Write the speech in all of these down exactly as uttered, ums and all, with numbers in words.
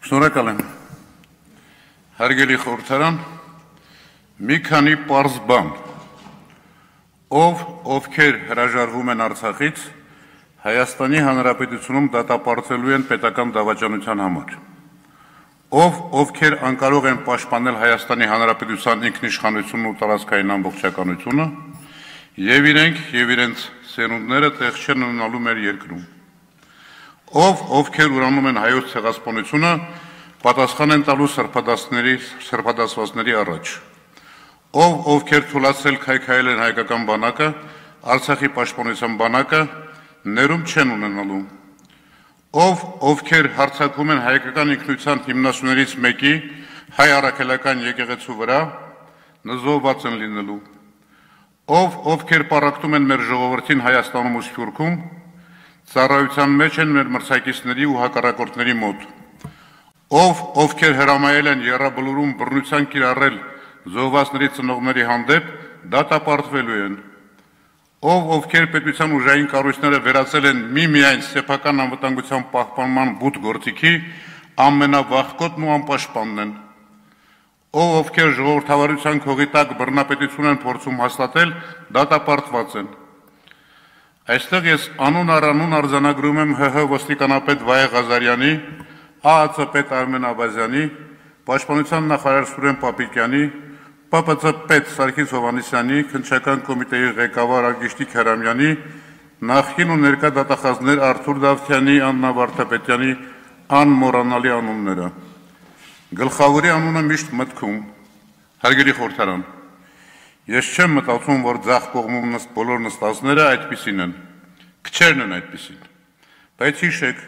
Շնորհակալ եմ։ Հարգելի խորհրդարան, մի քանի պարզ բան, ով ովքեր հրաժարվում են Արցախից, Հայաստանի Հանրապետությունում դատապարտվելու են պետական դավաճանության համար, ով ովքեր անկարող են պաշտպանել Հայաստանի Հանրապետության ինքնիշխանությունն ու տարածքային ամբողջականությունը, եւ իրենք եւ իրենց սերունդները տեղ չեն ունենալու մեր երկրում, ով ովքեր ուրանում են հայոց ցեղասպանությունը, պատասխան են տալու սրբադասների սրբադասվածների առաջ, ով ովքեր թույլատրել քայքայել են հայկական բանակը, Արցախի պաշտպանության բանակը, ներում չեն ունենալու, ով ովքեր հարձակվում են հայկական ինքնության հիմնասյուներից մեկի հայ առաքելական եկեղեցու վրա, նզովված են լինելու, ով ովքեր պառակտում են մեր ժողովրդին Հայաստանում ու Սփյուռքում, ծառայության մեջ են մեր մրցակիցների ու հակառակորդների մոտ, ով ովքեր հրամայել են եռաբլուրում բռնության կիրառել զոհվածների ծնողների հանդեպ, դատապարտվելու են, ով ովքեր պետության ուժային կառույցները վերածել են միմիայն սեփական անվտանգության պահպանման բութ գործիքի, ամենավախկոտն ու անպաշտպանն են, ով ովքեր ժողովրդավարության քողի տակ բռնապետություն են փորձում հաստատել, դատապարտված են։ Այստեղ ես անուն առանուն արձանագրում եմ ՀՀ ոստիկանապետ Վահե Ղազարյանի, ԱԱՑ պետ Արմեն Աբազյանի, Պաշտպանության նախարար Սուրեն Պապիկյանի, Պ Պ Ց պետ Սարգիս Հովհաննիսյանի, Քննչական կոմիտեի ղեկավար Արգիշտիկ Հրամյանի, նախկին ու ներկա դատախազներ Արթուր Դավթյանի, Աննա Վարդապետյանի անմոռանալի անունները։ Գլխավորի անունը միշտ մտքում, հարգելի խորհրդարան, ես չեմ մտածում, որ ձախ կողմում բոլոր նստածները այդպիսին են, քչերն են այդպիսին, բայց հիշեք,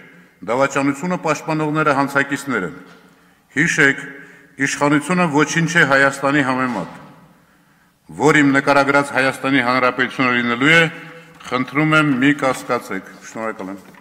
դավաճանությունը պաշտպանողները հանցակիցներ են, հիշեք, իշխանությունը ոչինչ է Հայաստանի համեմատ, որ իմ նկարագրած Հայաստանի Հանրապետությունը լինելու է, խնդրում եմ մի կասկածեք, շնորհակալ եմ։